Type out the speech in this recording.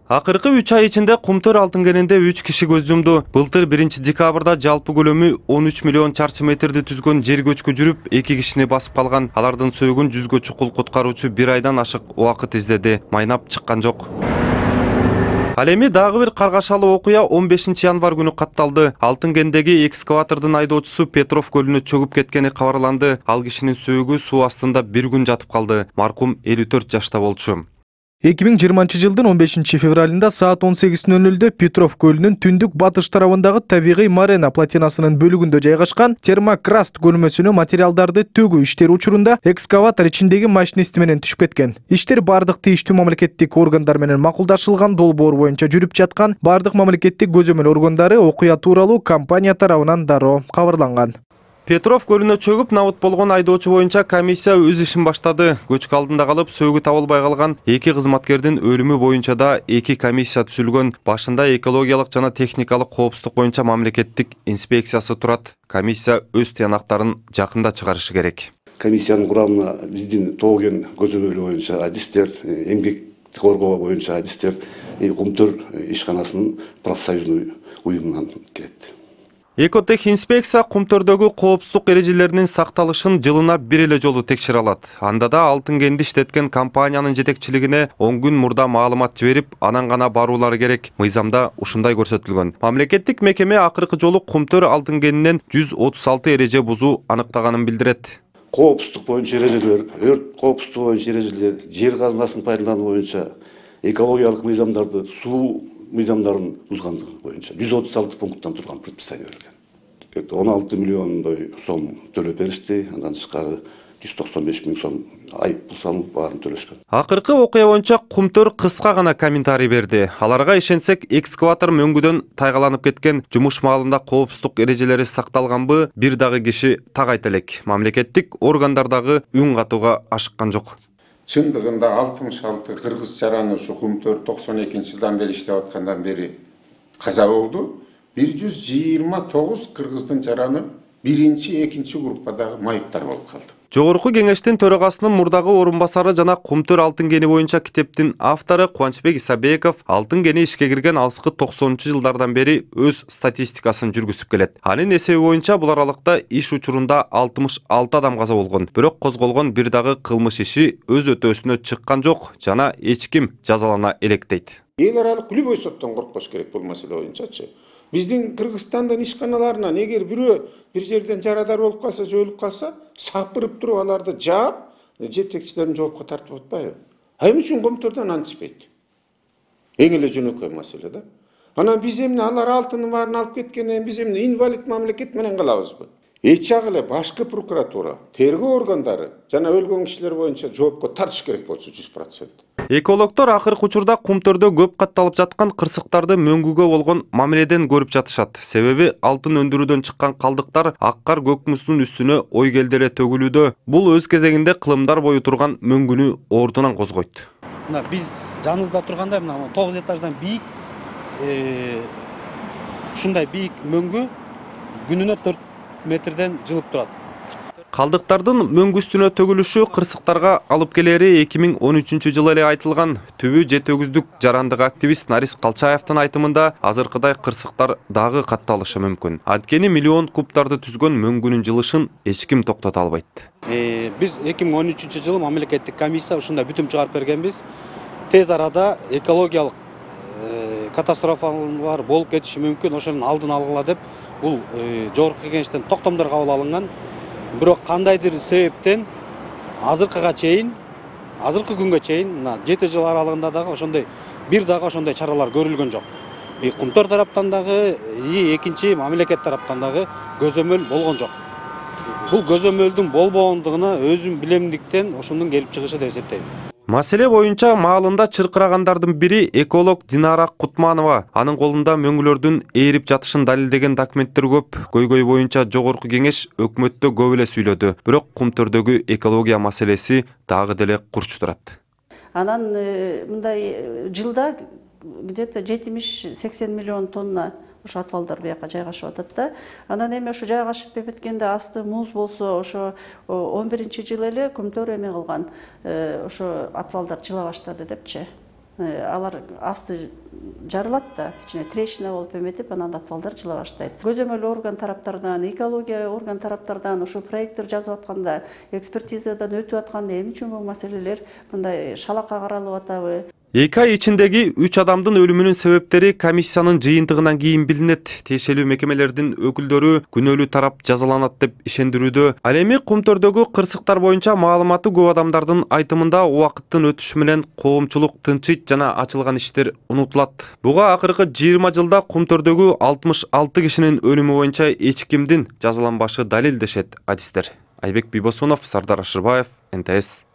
Акыркы 3 ай ичинде Кумтөр алтын кенинде 3 киши көз жумду. Былтыр 1 декабрда жалпы көлөмү 13 миллион чарчы метрди түзгөн жер көчкү жүрүп, 2 кишини басып калган. Алардын сөөгүн 100гө чукул куткаруучу 1 айдан ашык убакыт издеди. Майнап чыккан жок. Ал эми дагы бир каргашалуу окуя 15 январь күнү катталды. Алтын кендеги экскаватордун айдоочусу Петров көлүнө чөгүп кеткени кабарланды. Ал кишинин сөөгү суу астында 1 күн жатып калды. Маркум 54 жашта болчу. 2020 жылдын 15 февралында саат 18:00 Петров көлүнүн түндүк батыш тарабындагы табигый Марена платинасынын бөлүгүндө жайгашкан термокраст көлмөсүнө материалдарды төгүү иштери учурунда экскаватор ичиндеги машинисти менен түшүп кеткен. Иштер бардык тийиштүү мамлекеттик органдар менен макулдашылган, долбоор боюнча жүрүп жаткан. Бардык мамлекеттик көзөмөл органдары окуя тууралуу компания тарабынан дароо кабарланган. Петров көлүнө чөгүп набыт болгон айдоочу боюнча комиссия өз ишин баштады. Көчкү алдында калып, сөөгү табылбай калган 2 кызматкердин өлүмү боюнча да 2 комиссия түзүлгөн. Башында экологиялык жана техникалык коопсуздук боюнча мамлекеттик инспекциясы турат. Комиссия өз тыянактарын жакында чыгарышы керек. Комиссиянын курамына биздин Тоген көзөмөлү боюнча адистер, эмгекти коргоо боюнча адистер, Кумтөр ишканасынын профсоюзный уюмунан келет. Экотех инспекция Кумтөрдөгү коопсуздук эрежелеринин сакталышын жылына бир эле жолу текшере алат. Анда да алтын кенди иштеткен компаниянын жетекчилигине 10 күн мурда маалымат жиберип, анан гана баруулары керек. Мыйзамда ушундай көрсөтүлгөн. Мамлекеттик мекеме акыркы жолу Кумтөр алтын кенинен 136 эреже бузуу аныктаганын билдирет. Коопсуздук боюнча эрежелер, өрт коопсуздугу боюнча эрежелер, жер казынасын пайдалануу боюнча экологиялык мыйзамдарды, суу мыйзамдарын бузгандыгы боюнча 136 пункттан турган предписание берилген. 16 миллиондой сом төлөп беришти, андан тышкары 195 миң сом айыппул салынып баарын төлөшкөн. Акыркы окуя боюнча Кумтөр кыска гана комментарий берди. Аларга ишенсек, экскаватор мөңгүдөн тайгаланып кеткен, жумуш маалында коопсуздук эрежелери сакталганбы, бир дагы киши так айта элек. Мамлекеттик органдар дагы үн катууга ашыккан жок. Чындыгында 66 кыргыз жараны ушу Кумтөр 92-жылдан бери иштеп аткандан бери каза болду. 129 кыргыздын жараны 1-2 группадагы майыптар болуп калды. Жогорку кеңештин төрагасынын мурдагы орун басары жана Кумтөр алтын кени боюнча китептин автору Кубанычбек Исабеков алтын кени ишке кирген алыскы 90-жылдардан бери өз статистикасын жүргүзүп келет. Анын эсеби боюнча бул аралыкта иш учурунда 66 адам каза болгон. Бирок козголгон бир дагы кылмыш иши өз өтөөсүнө чыккан жок жана эч ким жазалана элек дейт. Эл аралык любой соттон коркпош керек бул маселе боюнчачы. Биздин Кыргызстандын ишканаларынан эгер бирөө бир жерден жарадар болуп калса, же өлүп калса, сапырып туруп аларды жаап, жетекчилерин жоопко тартып атпайбы? Эмне үчүн Кумтөрдөн антишпейт? Эң эле жөнөкөй маселе да. Анан биз эмне алар алтынын баарын алып кеткенден биз эмне инвалид мамлекет менен калабызбы? Эч жагы эле башкы прокуратура, тергөө органдары жана өлгөн кишилер боюнча жоопко тартыш керек болчу 100%. Экологдор акыркы учурда Кумтөрдө көп катталып жаткан кырсыктарды мөңгүгө болгон мамиледен көрүп жатышат. Себеби алтын өндүрүүдөн чыккан калдыктар аккар көк муздун үстүнө ойгелде эле төгүлүүдө. Бул өз кезегинде кылымдар бою турган мөңгүнү ордунан козгойт. Мына биз жаныбызда турганда мына 9 этаждан бийик ушундай бийик мөңгү күнүнө 4 метрден жылып турат. Калдыктардын мөңгү үстүнө төгүлүшү кырсыктарга алып келери 2013 жылы эле айтылган. Түбү жете өгүздүк жарандык активист Нарис Калчаевдин айтымында азыркыдай кырсыктар дагы катталышы мүмкүн. Анткени миллион кубтарды түзгөн мөңгүнүн жылышын эч ким токтото албайт. Биз 2013 жылы мамлекеттик комиссия ушундай бүтүм чыгарып бергенбиз. Тез арада экологиялык катастрофалар болуп кетиши мүмкүн, ошонун алдын алгыла деп бул жогорку кеңештен токтомдор кабыл алынган. Бирок кандайдыр себептен азыркы күнгө чейин мына 7 жыл аралыгында дагы ошондой бир дагы ошондой чаралар көрүлгөн жок. Кумтөр тараптан дагы, экинчи мамлекет тараптан дагы көзөмөл болгон жок. Бул көзөмөлдүн болбогондугуна өзүм билемдиктен ошондун келип чыгышы деп эсептейм. Маселе боюнча маалында чыркырагандардын бири эколог Динара Кутманова. Анын колунда мөңгүлөрдүн ээрип жатышын далилдеген документтер көп. Көйгөй боюнча жогорку кеңеш өкмөттө көп эле сүйлөдү. Бирок Кумтөрдөгү экология маселеси дагы деле курч турат. Анан мындай жылда где-то 70-80 миллион тонна ошо атвалдар бияка жайгашып атат да. Анан эми ошо жайгашып беткенде асты муз болсо, ошо 11-жылы эле Кумтөр эме кылган, ошо атвалдар жыла баштады депчи. алар асты жарылат да, кичине трещина болуп эметип, анан атфалдар жыла баштайт. Көзөмөл орган тараптардан, экология орган тараптардан ушу проекттер жазып атканда, экспертизадан өтүп атканда эмне үчүн бул маселелер мындай шалакка каралып атабы? 2 ай ичиндеги 3 адамдын өлүмүнүн себептери комиссиянын жыйынтыгынан кийин билинет. Тиешелүү мекемелердин өкүлдөрү күнөөлүү тарап жазаланат деп ишендирүүдө. Ал эми Кумтөрдөгү кырсыктар боюнча маалыматы көп адамдардын айтымында убакыттын өтүшү менен коомчулук тынчыйт жана ачылган иштер унутулат. Буга акыркы 20 жылда Кумтөрдөгү 66 кишинин өлүмү боюнча эч кимдин жазаланбашы далилдешет адистер. Айбек Бибосунов, Сардар Ашырбаев, НТС.